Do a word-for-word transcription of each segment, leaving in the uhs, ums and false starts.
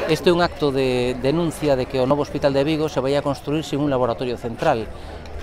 Este é un acto de denuncia de que o novo Hospital de Vigo se vai a construir sin un laboratorio central,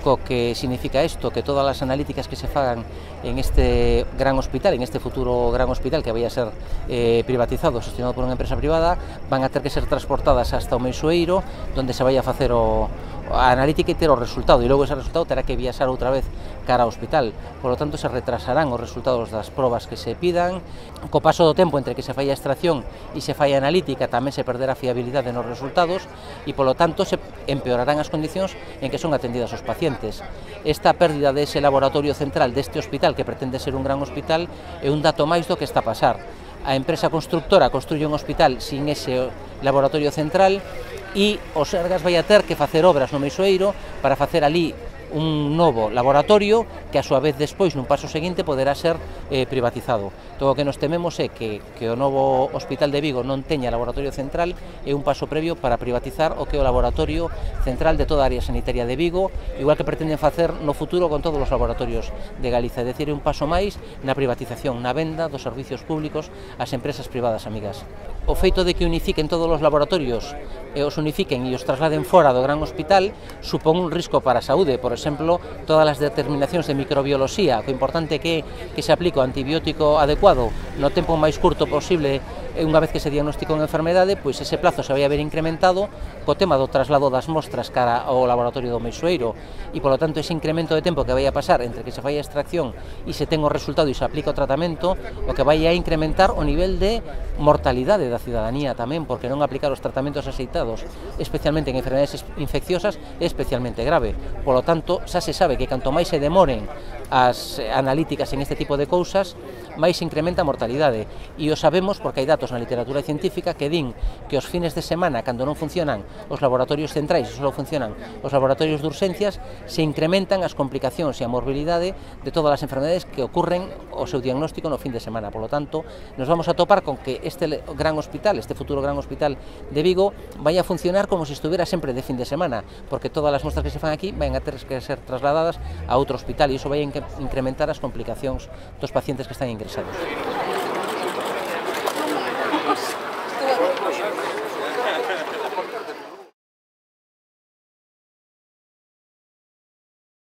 co que significa isto, que todas as analíticas que se fagan en este gran hospital, en este futuro gran hospital que vai a ser eh, privatizado, gestionado por unha empresa privada, van a ter que ser transportadas hasta o Meixoeiro, donde se vai a facer o, a analítica e ter o resultado, e logo ese resultado terá que viaxar outra vez cara ao hospital. Por lo tanto, se retrasarán os resultados das probas que se pidan. Co paso do tempo entre que se fai a extracción e se fai a analítica, tamén se perderá a fiabilidade nos resultados e, polo tanto, se empeorarán as condicións en que son atendidas os pacientes. Esta pérdida dese laboratorio central deste hospital, que pretende ser un gran hospital, é un dato máis do que está a pasar. A empresa constructora construye un hospital sin ese laboratorio central e o Sergas vai a ter que facer obras no Meixoeiro para facer ali un novo laboratorio que a súa vez despois nun paso seguinte poderá ser eh, privatizado. Todo o que nos tememos é que, que o novo Hospital de Vigo non teña laboratorio central, é un paso previo para privatizar o que é o laboratorio central de toda a área sanitaria de Vigo, igual que pretenden facer no futuro con todos os laboratorios de Galiza, é dicir, é un paso máis na privatización, na venda dos servicios públicos ás empresas privadas amigas. O feito de que unifiquen todos os laboratorios e os unifiquen e os trasladen fora do gran hospital supón un risco para a saúde. Por exemplo, todas as determinacións de microbioloxía, o importante que que se aplique o antibiótico adecuado no tempo máis curto posible unha vez que se diagnostica unha enfermedade, pois ese plazo se vai a ver incrementado co tema do traslado das mostras cara ao laboratorio do Meixoeiro e, polo tanto, ese incremento de tempo que vai a pasar entre que se fai a extracción e se ten o resultado e se aplica o tratamento, o que vai a incrementar o nivel de mortalidade da cidadanía tamén, porque non aplicar os tratamentos axeitados, especialmente en enfermedades infecciosas, é especialmente grave. Polo tanto, xa se sabe que canto máis se demoren as analíticas en este tipo de cousas, máis se incrementa a mortalidade. E o sabemos porque hai datos na literatura científica que din que os fines de semana, cando non funcionan os laboratorios centrais e só funcionan os laboratorios de urxencias, se incrementan as complicacións e a morbilidade de todas as enfermedades que ocurren o seu diagnóstico no fin de semana. Por lo tanto, nos vamos a topar con que este gran hospital, este futuro gran hospital de Vigo, vai a funcionar como se estuviera sempre de fin de semana, porque todas as mostras que se fan aquí van a ter que ser trasladadas a outro hospital e iso vai a incrementar as complicacións dos pacientes que están ingresados.